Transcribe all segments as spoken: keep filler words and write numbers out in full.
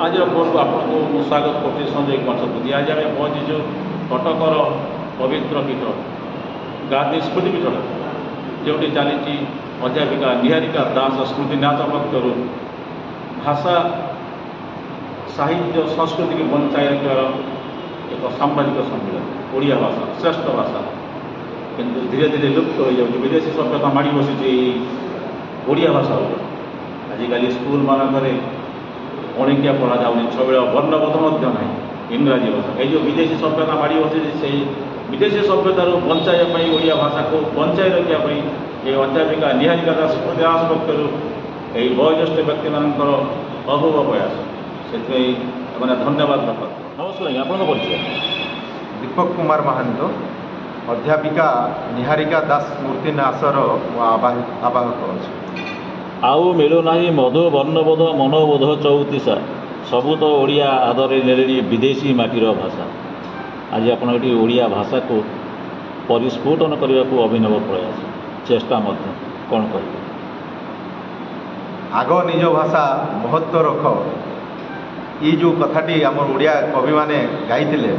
ଆଜିର ଖବରକୁ ଆପଣଙ୍କୁ ମୁଁ ସ୍ୱାଗତ କରୁଛି ସଞ୍ଜୟ କୁମାର ଶତପଥୀ। ଆଜି ଆମେ ପହଞ୍ଚିଛୁ କଟକର ପବିତ୍ର ପୀଠ ଗାନ୍ଧୀ ସ୍ମୃତି ପୀଠରେ, ଯେଉଁଠି ଚାଲିଛି ଅଧ୍ୟାପିକା ନିହାରିକା ଦାସ ସ୍ମୃତି ନ୍ୟାସ ପକ୍ଷରୁ ଭାଷା, ସାହିତ୍ୟ, ସଂସ୍କୃତିକୁ ବଞ୍ଚାଇ ରଖିବାର ଏକ ସାମ୍ବାଦିକ ସମ୍ମିଳନୀ। ଓଡ଼ିଆ ଭାଷା ଶ୍ରେଷ୍ଠ ଭାଷା, କିନ୍ତୁ ଧୀରେ ଧୀରେ ଲୁପ୍ତ ହୋଇଯାଉଛି। ବିଦେଶୀ ସଭ୍ୟତା ମାଡ଼ି ବସିଛି ଏଇ ଓଡ଼ିଆ ଭାଷା ଉପରେ। ଆଜିକାଲି ସ୍କୁଲମାନଙ୍କରେ ପଣିକିଆ ପଢ଼ାଯାଉନି, ଛବିଳ ବର୍ଣ୍ଣବୋଧ ମଧ୍ୟ ନାହିଁ, ଇଂରାଜୀ ଭାଷା। ଏଇ ଯେଉଁ ବିଦେଶୀ ସଭ୍ୟତା ମାଡ଼ି ବସିଛି, ସେଇ ବିଦେଶୀ ସଭ୍ୟତାରୁ ବଞ୍ଚାଇବା ପାଇଁ, ଓଡ଼ିଆ ଭାଷାକୁ ବଞ୍ଚାଇ ରଖିବା ପାଇଁ ଏ ଅଧ୍ୟାପିକା ନିହାରିକା ଦାସ ସ୍ମୃତି ଦାସ ପକ୍ଷରୁ ଏହି ବୟୋଜ୍ୟେଷ୍ଠ ବ୍ୟକ୍ତିମାନଙ୍କର ଅପୂର୍ବ ପ୍ରୟାସ। ସେଥିପାଇଁ ଏମାନେ ଧନ୍ୟବାଦ ପାତ୍ର। ନମସ୍କାର ଆଜ୍ଞା, ଆପଣଙ୍କ ପରିଚୟ? ଦୀପକ କୁମାର ମହାନ୍ତ, ଅଧ୍ୟାପିକା ନିହାରିକା ଦାସ ସ୍ମୃତି ନ୍ୟାସର ମୁଁ ଆବାହକ ଅଛି। ଆଉ ମିଳୁନାହିଁ ମଧୁ ବର୍ଣ୍ଣବୋଧ ମନୋବୋଧ ଚଉତିଶା, ସବୁ ତ ଓଡ଼ିଆ ଆଦରେ ନେଲେଣି ବିଦେଶୀ ମାଟିର ଭାଷା। ଆଜି ଆପଣ ଏଠି ଓଡ଼ିଆ ଭାଷାକୁ ପରିସ୍ଫୁଟନ କରିବାକୁ ଅଭିନବ ପ୍ରୟାସ, ଚେଷ୍ଟା ମଧ୍ୟ, କ'ଣ କହିବେ? ଆଗ ନିଜ ଭାଷା ମହତ୍ଵ ରଖ, ଏଇ ଯେଉଁ କଥାଟି ଆମର ଓଡ଼ିଆ କବିମାନେ ଗାଇଥିଲେ,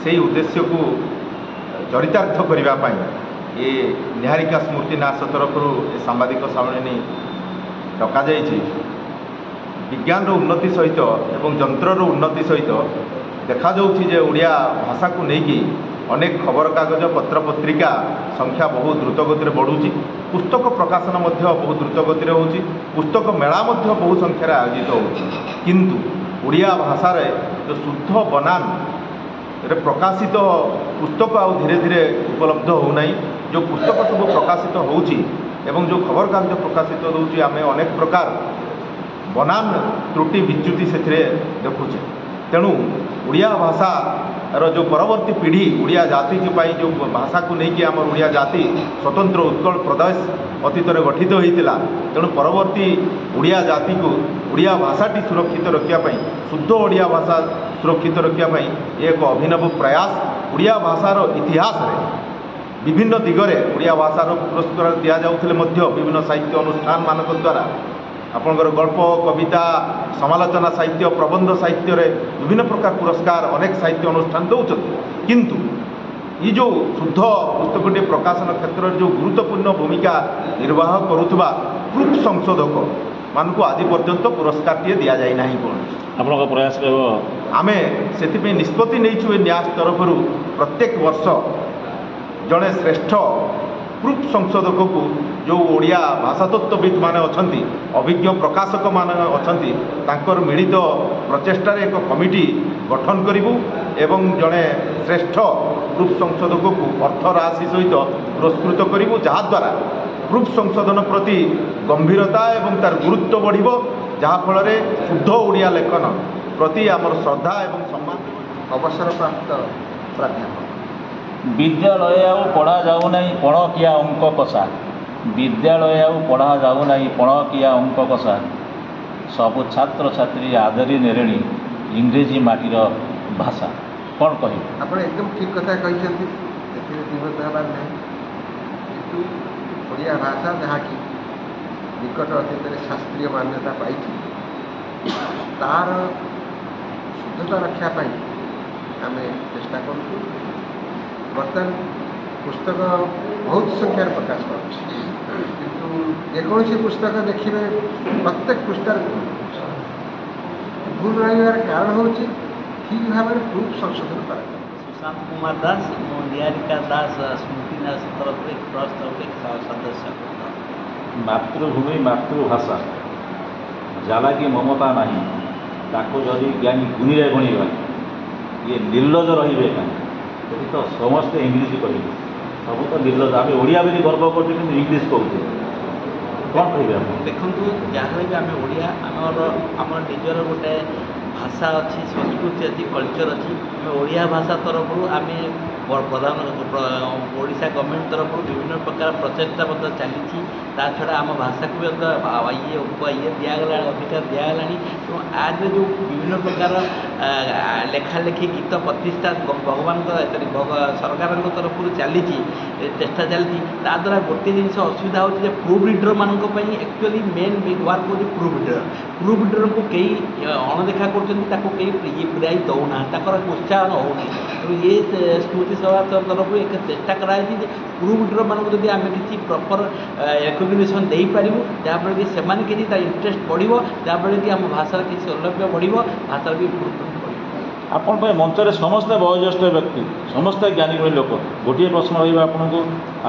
ସେଇ ଉଦ୍ଦେଶ୍ୟକୁ ଚରିତାର୍ଥ କରିବା ପାଇଁ ଏ ନିହାରିକା ସ୍ମୃତି ନ୍ୟାସ ତରଫରୁ ଏ ସାମ୍ବାଦିକ ସମ୍ମିଳନୀ ଡକାଯାଇଛି। ବିଜ୍ଞାନର ଉନ୍ନତି ସହିତ ଏବଂ ଯନ୍ତ୍ରର ଉନ୍ନତି ସହିତ ଦେଖାଯାଉଛି ଯେ ଓଡ଼ିଆ ଭାଷାକୁ ନେଇକି ଅନେକ ଖବରକାଗଜ, ପତ୍ରପତ୍ରିକା ସଂଖ୍ୟା ବହୁତ ଦ୍ରୁତ ଗତିରେ ବଢ଼ୁଛି। ପୁସ୍ତକ ପ୍ରକାଶନ ମଧ୍ୟ ବହୁତ ଦ୍ରୁତ ଗତିରେ ହେଉଛି। ପୁସ୍ତକ ମେଳା ମଧ୍ୟ ବହୁ ସଂଖ୍ୟାରେ ଆୟୋଜିତ ହେଉଛି। କିନ୍ତୁ ଓଡ଼ିଆ ଭାଷାରେ ଯେଉଁ ଶୁଦ୍ଧ ବନାନରେ ପ୍ରକାଶିତ ପୁସ୍ତକ ଆଉ ଧୀରେ ଧୀରେ ଉପଲବ୍ଧ ହେଉନାହିଁ। ଯେଉଁ ପୁସ୍ତକ ସବୁ ପ୍ରକାଶିତ ହେଉଛି ଏବଂ ଯେଉଁ ଖବରକାଗଜ ପ୍ରକାଶିତ ହେଉଛି, ଆମେ ଅନେକ ପ୍ରକାର ବନାନ ତ୍ରୁଟି ବିଚ୍ୟୁତି ସେଥିରେ ଦେଖୁଛେ। ତେଣୁ ଓଡ଼ିଆ ଭାଷାର ଯେଉଁ ପରବର୍ତ୍ତୀ ପିଢ଼ି, ଓଡ଼ିଆ ଜାତି ପାଇଁ ଯେଉଁ ଭାଷାକୁ ନେଇକି ଆମର ଓଡ଼ିଆ ଜାତି ସ୍ୱତନ୍ତ୍ର ଉତ୍କଳ ପ୍ରଦେଶ ଅତୀତରେ ଗଠିତ ହୋଇଥିଲା, ତେଣୁ ପରବର୍ତ୍ତୀ ଓଡ଼ିଆ ଜାତିକୁ ଓଡ଼ିଆ ଭାଷାଟି ସୁରକ୍ଷିତ ରଖିବା ପାଇଁ, ଶୁଦ୍ଧ ଓଡ଼ିଆ ଭାଷା ସୁରକ୍ଷିତ ରଖିବା ପାଇଁ ଏକ ଅଭିନବ ପ୍ରୟାସ। ଓଡ଼ିଆ ଭାଷାର ଇତିହାସରେ ବିଭିନ୍ନ ଦିଗରେ ଓଡ଼ିଆ ଭାଷାର ପୁରସ୍କାର ଦିଆଯାଉଥିଲେ ମଧ୍ୟ ବିଭିନ୍ନ ସାହିତ୍ୟ ଅନୁଷ୍ଠାନମାନଙ୍କ ଦ୍ୱାରା ଆପଣଙ୍କର ଗଳ୍ପ, କବିତା, ସମାଲୋଚନା ସାହିତ୍ୟ, ପ୍ରବନ୍ଧ ସାହିତ୍ୟରେ ବିଭିନ୍ନ ପ୍ରକାର ପୁରସ୍କାର ଅନେକ ସାହିତ୍ୟ ଅନୁଷ୍ଠାନ ଦେଉଛନ୍ତି। କିନ୍ତୁ ଏଇ ଯେଉଁ ଶୁଦ୍ଧ ପୁସ୍ତକଟି ପ୍ରକାଶନ କ୍ଷେତ୍ରରେ ଯେଉଁ ଗୁରୁତ୍ୱପୂର୍ଣ୍ଣ ଭୂମିକା ନିର୍ବାହ କରୁଥିବା ପ୍ରୁଫ୍ ସଂଶୋଧକ ମାନଙ୍କୁ ଆଜି ପର୍ଯ୍ୟନ୍ତ ପୁରସ୍କାରଟିଏ ଦିଆଯାଇ ନାହିଁ କୌଣସି। ଆପଣଙ୍କ ପ୍ରୟାସ ରହିବ? ଆମେ ସେଥିପାଇଁ ନିଷ୍ପତ୍ତି ନେଇଛୁ ଏ ନ୍ୟାସ ତରଫରୁ ପ୍ରତ୍ୟେକ ବର୍ଷ ଜଣେ ଶ୍ରେଷ୍ଠ ପ୍ରୁଫ୍ ସଂଶୋଧକକୁ, ଯେଉଁ ଓଡ଼ିଆ ଭାଷାତତ୍ତ୍ୱବିତ୍ ମାନେ ଅଛନ୍ତି, ଅଭିଜ୍ଞ ପ୍ରକାଶକମାନେ ଅଛନ୍ତି, ତାଙ୍କର ମିଳିତ ପ୍ରଚେଷ୍ଟାରେ ଏକ କମିଟି ଗଠନ କରିବୁ ଏବଂ ଜଣେ ଶ୍ରେଷ୍ଠ ପ୍ରୁଫ୍ ସଂଶୋଧକକୁ ଅର୍ଥ ରାଶି ସହିତ ପୁରସ୍କୃତ କରିବୁ, ଯାହାଦ୍ୱାରା ପ୍ରୁଫ୍ ସଂଶୋଧନ ପ୍ରତି ଗମ୍ଭୀରତା ଏବଂ ତାର ଗୁରୁତ୍ୱ ବଢ଼ିବ, ଯାହାଫଳରେ ଶୁଦ୍ଧ ଓଡ଼ିଆ ଲେଖନ ପ୍ରତି ଆମର ଶ୍ରଦ୍ଧା ଏବଂ ସମ୍ମାନ। ଅବସରପ୍ରାପ୍ତ ପ୍ରାଧ୍ୟାପକ। ବିଦ୍ୟାଳୟ ଆଉ ପଢ଼ା ଯାଉନାହିଁ ପଣକିଆ ଅଙ୍କ କଷା, ବିଦ୍ୟାଳୟ ଆଉ ପଢ଼ା ଯାଉନାହିଁ ପଣକିଆ ଅଙ୍କ କଷା, ସବୁ ଛାତ୍ରଛାତ୍ରୀ ଆଦରି ନେଲେଣି ଇଂରେଜୀ ମାଟିର ଭାଷା। କ'ଣ କହିବେ? ଆପଣ ଏକଦମ ଠିକ୍ କଥା କହିଛନ୍ତି, ଏଥିରେ ଦ୍ୱିମତ ହେବାର ନାହିଁ। କିନ୍ତୁ ଓଡ଼ିଆ ଭାଷା ଯାହାକି ନିକଟ ଅତୀତରେ ଶାସ୍ତ୍ରୀୟ ମାନ୍ୟତା ପାଇଛି, ତାର ଶୁଦ୍ଧତା ରକ୍ଷା ପାଇଁ ଆମେ ଚେଷ୍ଟା କରୁଛୁ। ବର୍ତ୍ତମାନ ପୁସ୍ତକ ବହୁତ ସଂଖ୍ୟାରେ ପ୍ରକାଶ ପାଉଛି, କିନ୍ତୁ ଯେକୌଣସି ପୁସ୍ତକ ଦେଖିବେ ପ୍ରତ୍ୟେକ ପୃଷ୍ଠାରେ ଭୁଲ ରହୁଛି। ଭୁଲ ରହିବାର କାରଣ ହେଉଛି ଠିକ୍ ଭାବରେ ପ୍ରୁଫ୍ ସଂଶୋଧନ କରାଯାଏ। ସୁଶାନ୍ତ କୁମାର ଦାସ, ମୁଁ ନିହାରିକା ଦାସ ସ୍ମୃତି ନ୍ୟାସ ତରଫରୁ, ଟ୍ରଷ୍ଟ ତରଫରୁ ସଦସ୍ୟ। ମାତୃଭୂମି ମାତୃଭାଷା ଜାଲାକି ମମତା ନାହିଁ, ତାକୁ ଯଦି ଜ୍ଞାନୀ ଗୁଣିରେ ଗଣିବା ଇଏ ନିର୍ଲଜ ରହିବେ କାହିଁ? ସେଠି ତ ସମସ୍ତେ ଇଂଲିଶ କହିବେ, ସବୁ ତ ନିର୍ଲଜ। ଆମେ ଓଡ଼ିଆ ବୋଲି ଗର୍ବ କରୁଛୁ, କିନ୍ତୁ ଇଂଲିଶ କହୁଛୁ। କ'ଣ କହିବେ ଆପଣ? ଦେଖନ୍ତୁ, ଯାହାହେଲେ ବି ଆମେ ଓଡ଼ିଆ, ଆମର ଆମର ନିଜର ଗୋଟେ ଭାଷା ଅଛି, ସଂସ୍କୃତି ଅଛି, କଲଚର୍ ଅଛି। ଆମେ ଓଡ଼ିଆ ଭାଷା ତରଫରୁ ଆମେ ପ୍ରଧାନ ଓଡ଼ିଶା ଗଭର୍ଣ୍ଣମେଣ୍ଟ ତରଫରୁ ବିଭିନ୍ନ ପ୍ରକାର ପ୍ରଚେଷ୍ଟା ମଧ୍ୟ ଚାଲିଛି। ତା ଛଡ଼ା ଆମ ଭାଷାକୁ ବି ଇଏ ଇଏ ଦିଆଗଲାଣି, ଅଧିକାର ଦିଆଗଲାଣି। ତେଣୁ ଆଜିର ଯେଉଁ ବିଭିନ୍ନ ପ୍ରକାର ଲେଖାଲେଖି, ଗୀତ ପ୍ରତିଷ୍ଠା ଭଗବାନଙ୍କ ସରକାରଙ୍କ ତରଫରୁ ଚାଲିଛି, ଚେଷ୍ଟା ଚାଲିଛି, ତା ଦ୍ୱାରା ଗୋଟିଏ ଜିନିଷ ଅସୁବିଧା ହେଉଛି ଯେ ପ୍ରୁଫ୍ ରିଡ଼ର୍ମାନଙ୍କ ପାଇଁ ଆକ୍ଚୁଆଲି ମେନ୍ ୱାର୍କ ହେଉଛି ପ୍ରୁଫ୍ ରିଡ଼ର୍। ପ୍ରୁଫ୍ ରିଡ଼ର୍ଙ୍କୁ କେହି ଅଣଦେଖା କରୁଛନ୍ତି, ତାକୁ କେହି ଇଏ ପ୍ରାଇଜ୍ ଦେଉନାହାନ୍ତି, ତାଙ୍କର ପ୍ରୋତ୍ସାହନ ହେଉନାହିଁ। ତେଣୁ ଏ ସ୍ମୃତି ସଭା ତରଫରୁ ଏକ ଚେଷ୍ଟା କରାଯାଇଛି ଯେ ପ୍ରୁଫ୍ ରିଡ଼ର୍ମାନଙ୍କୁ ଯଦି ଆମେ କିଛି ପ୍ରପର୍ ରେକଗ୍ନିସନ୍ ଦେଇପାରିବୁ, ଯାହାଫଳରେ କି ସେମାନେ କିଛି ତା ଇଣ୍ଟରେଷ୍ଟ ବଢ଼ିବ, ଯାହାଫଳରେ କି ଆମ ଭାଷାର କିଛି ସୌଲଭ୍ୟ ବଢ଼ିବ, ଭାଷାର ବି ଇମ୍ପ୍ରୁଭମେଣ୍ଟ ବଢ଼ିବ। ଆପଣଙ୍କ ଏ ମଞ୍ଚରେ ସମସ୍ତେ ବୟୋଜ୍ୟେଷ୍ଠ ବ୍ୟକ୍ତି, ସମସ୍ତେ ଜ୍ଞାନୀ ଗୁଣୀ ଲୋକ। ଗୋଟିଏ ପ୍ରଶ୍ନ ରହିବ ଆପଣଙ୍କୁ,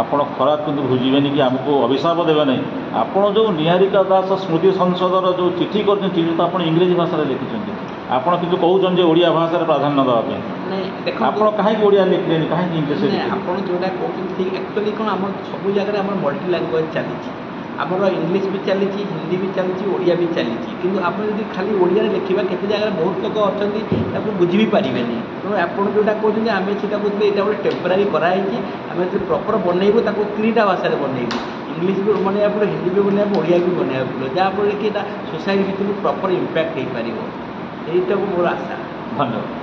ଆପଣ ଖରାପ କିନ୍ତୁ ବୁଝିବେନି କି ଆମକୁ ଅଭିଶାପ ଦେବେ ନାହିଁ। ଆପଣ ଯେଉଁ ନିହାରିକା ଦାସ ସ୍ମୃତି ସଂସଦର ଯେଉଁ ଚିଠି କରିଛନ୍ତି, ଚିଠି ତ ଆପଣ ଇଂରେଜୀ ଭାଷାରେ ଲେଖିଛନ୍ତି, ଆପଣ କିନ୍ତୁ କହୁଛନ୍ତି ଯେ ଓଡ଼ିଆ ଭାଷାରେ ପ୍ରାଧାନ୍ୟ ଦେବା ପାଇଁ। ନାଇଁ, ଦେଖନ୍ତୁ, ଆପଣ କାହିଁକି ଓଡ଼ିଆ ଲେଖିଲେନି, କାହିଁକି ଇଂଲିଶରେ ଲେଖିଲେ? ଆପଣ ଯେଉଁଟା କହୁଛନ୍ତି ଠିକ୍। ଆକ୍ଚୁଆଲି କ'ଣ, ଆମର ସବୁ ଜାଗାରେ ଆମର ମଲ୍ଟି ଲାଙ୍ଗୁଏଜ୍ ଚାଲିଛି। ଆମର ଇଂଲିଶ ବି ଚାଲିଛି, ହିନ୍ଦୀ ବି ଚାଲିଛି, ଓଡ଼ିଆ ବି ଚାଲିଛି। କିନ୍ତୁ ଆପଣ ଯଦି ଖାଲି ଓଡ଼ିଆରେ ଲେଖିବା, କେତେ ଜାଗାରେ ବହୁତ ଲୋକ ଅଛନ୍ତି ତାକୁ ବୁଝି ବି ପାରିବେନି। ତେଣୁ ଆପଣ ଯେଉଁଟା କହୁଛନ୍ତି, ଆମେ ସେଇଟା କହୁଥିଲେ ଏଇଟା ଗୋଟେ ଟେମ୍ପୋରାରୀ କରାହେଇଛି। ଆମେ ଯଦି ପ୍ରପର୍ ବନେଇବୁ, ତାକୁ ତିନିଟା ଭାଷାରେ ବନେଇବୁ। ଇଂଲିଶ ବି ବନେଇବାକୁ ପଡ଼ିବ, ହିନ୍ଦୀ ବି ବନେଇବାକୁ, ଓଡ଼ିଆ ବି ବନେଇବାକୁ ପଡ଼ିବ, ଯାହାଫଳରେ କି ଏଇଟା ସୋସାଇଟି ଭିତରକୁ ପ୍ରପର୍ ଇମ୍ପାକ୍ଟ ହେଇପାରିବ। ଏଇଟାକୁ ମୋର ଆଶା। ଧନ୍ୟବାଦ।